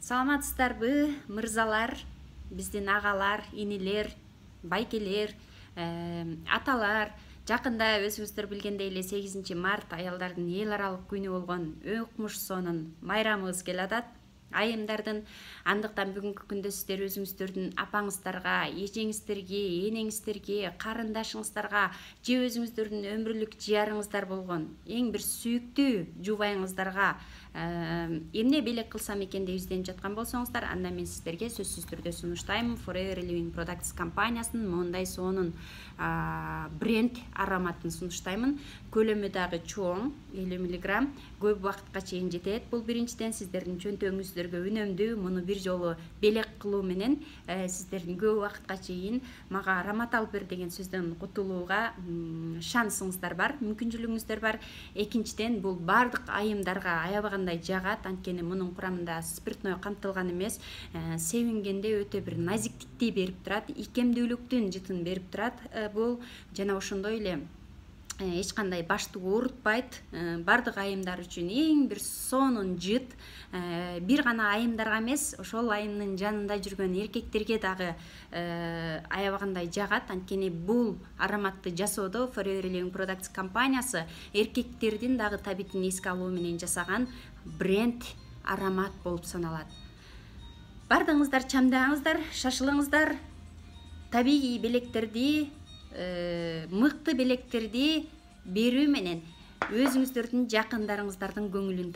Саламатсыздарбы, мырзалар, биздин агалар, инилер, байкелер, аталар. Жакында өзүңүздөр билгендей эле 8 март аялдардын эл аралык күнү болгон Өкмуш сонун майрамыбыз келатат. Айымдардын. Андыктан бүгүнкү күндө сиздер өзүңүздөрдүн апаңыздарга, эжеңиздерге, энеңиздерге, карындашыңыздарга же өзүңүздөрдүн өмүрлүк жыярыңыздар болгон эң бир сүйүктүү жубайыңыздарга эмне белек кылсам экен деп изденип жаткан болсоңуздар, анда мен сиздерге сөзсүз түрдө сунуштайм Forever Living Products компаниясынын моундай сонун бренд ароматын сунуштаймын. Көлөмү дагы чоң, 50 мг, көп убакытка чейин жетет. Бул биринчиден сиздердин чөнтөгүңүздөргө үнөмдүү. Муну бир жолу белек кылуу менен сиздердин көп убакытка чейин мага аромат алып бер деген сөздөн кутулууга шансыңыздар бар, мүмкүнчүлүгүңүздөр бар. Экинчиден, бул бардык айымдарга аябагандай жагат, анткени мунун курамында спиртной камтылган эмес. Себингенде өтө бир назиктикти берип турат, икемдүүлүктүн жытын берип турат. Бул жана ошондой эле эч кандай башты оорутпайт. Бардык айымдар үчүн эң бир сонун жыт. Бир гана айымдарга эмес, ошол айымдын жанында жүргөн эркектерге дагы аябагандай жагат. Анткени бул ароматты жасоодо Forever Living Products компаниясы эркектердин дагы табитин эске алуу менен жасаган бренд аромат болуп саналат. Бардыгыңыздар чамдаңыздар, шашылыңыздар. Табигый белектерди, мыкты белектерди берүү менен өзүңүздөрдүн жакындарыңыздардын көңүлүн